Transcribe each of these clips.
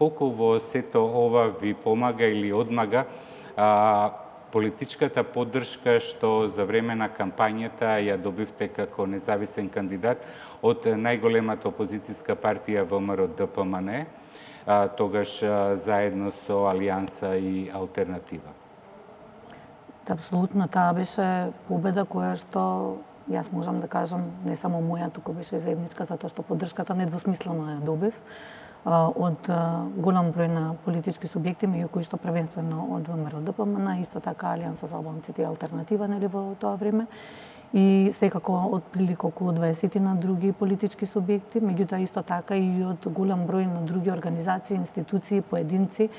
Колку во сето ова ви помага или одмага политичката поддршка што за време на кампањата ја добивте како независен кандидат од најголемата опозицијска партија ВМРО-ДПМН, тогаш заедно со Алијанса и Алтернатива? Апсолутно, таа беше победа која што јас можам да кажам, не само моја, туку беше заедничка, затоа што поддршката недвосмислено ја добив од голем број на политички субјекти, меѓу кои што првенствено од ВМРО-ДПМН, исто така Алијанса за албанците и Алтернатива, нели, во тоа време. И секако од прилика околу 20 на други политички субјекти, меѓутоа исто така и од голем број на други организации, институции, поединци,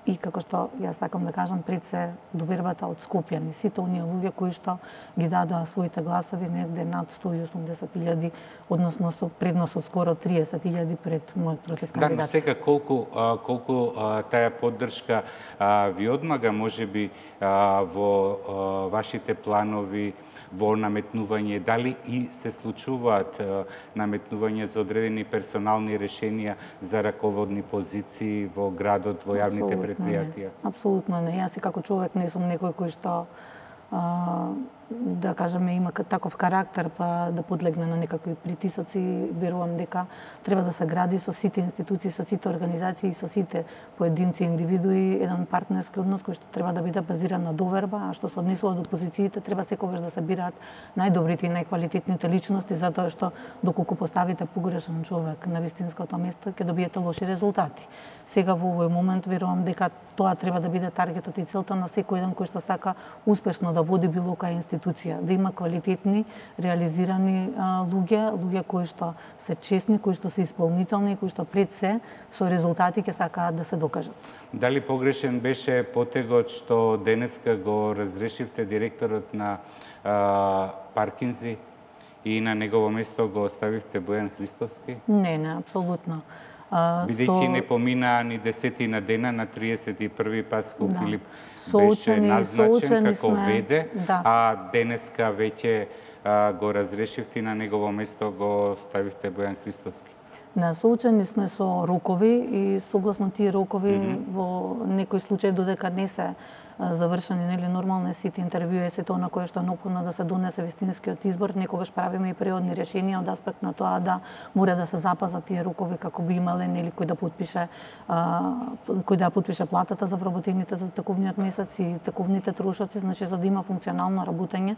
и како што јас сакам да кажам, пред се довербата од скопјани, сите оние луѓе кои што ги дадоа своите гласови, негде над 180.000, односно со предност од скоро 30.000 пред мојот против кандидат. Да, но сега колку таа поддршка ви одмага, можеби во вашите планови, во наметнување, дали и се случуваат наметнување за одредени персонални решенија за раководни позиции во градот, во јавните предпријатија? Апсолутно не. Јас и како човек не сум некој кој што да кажеме има таков карактер па да подлегне на некакви притисоци. Верувам дека треба да се гради со сите институции, со сите организации и со сите поединци и индивидуи еден партнерски однос кој што треба да биде базиран на доверба, а што се однесува до опозициите, треба секогаш да се бираат најдобрите и најквалитетните личности, затоа што доколку поставите погрешен човек на вистинското место, ќе добиете лоши резултати. Сега во овој момент верувам дека тоа треба да биде таргетот и целта на секој еден кој што сака успешно да води било која институција, да има квалитетни, реализирани луѓе кои што се честни, кои што се исполнителни, кои што пред се со резултати ќе сакаат да се докажат. Дали погрешен беше потегот што денеска го разрешивте директорот на Паркинзи и на негово место го оставивте Бојан Христовски? Не, апсолутно. Бидејќи не поминаа ни 10 дена, на 31 Паско Филип беше назначен како веде, а денеска веќе го разрешивте и на негово место го ставивте Бојан Христовски. Соочени сме со рокови и согласно тие рокови во некој случај додека не се завршени, нели, нормално сите интервјуи, сето она кое што е неопходно да се донесе вистинскиот избор, некогаш правиме и преодни решенија од аспект на тоа да мора да се запазат тие рокови како би имале, нели, кој да потпише платата за вработените за таковниот месец и таковните трошоци, значи за да има функционално работење